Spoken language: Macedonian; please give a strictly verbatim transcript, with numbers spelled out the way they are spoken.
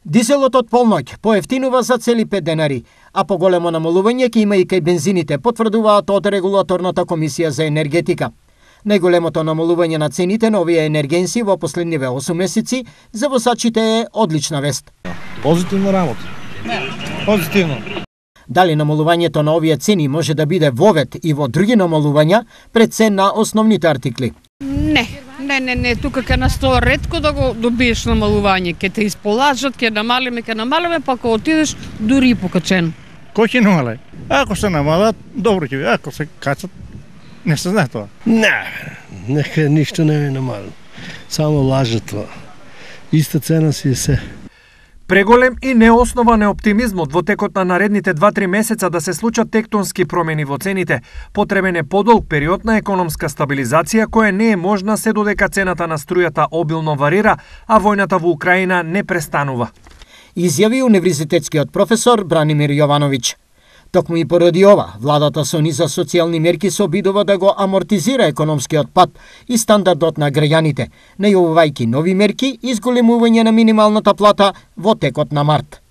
Дизелот од полноќ поевтинува за цели пет денари, а поголемо намалување ќе има и кај бензините, потврдуваат од Регулаторната комисија за енергетика. Најголемото намалување на цените на овие енергенси во последниве осум месеци за возачите е одлична вест. Позитивно работа. Позитивно. Дали намалувањето на овие цени може да биде вовед и во други намалувања пред цен на основните артикли? Не, не, не, не, тука ќе настои ретко да го добиеш намалување, ќе те исполажат, ќе намалиме, ќе намалиме, па кога отидеш дури и покачено. Кој ќе намале? Ако се намалат, добро ќе биде, ако се качат, не се знае тоа. Не, нека ништо не е намалено. Само лажат тоа. Иста цена си е се. Преголем и неоснован е оптимизмот во текот на наредните два-три месеца да се случат тектонски промени во цените. Потребен е подолг период на економска стабилизација која не е можна се додека цената на струјата обилно варира, а војната во Украина не престанува. Изјави универзитетскиот професор Бранимир Јовановиќ. Токму и поради ова, владата со низа социјални мерки се обидува да го амортизира економскиот пат и стандардот на граѓаните, најавувајќи нови мерки и зголемување на минималната плата во текот на март.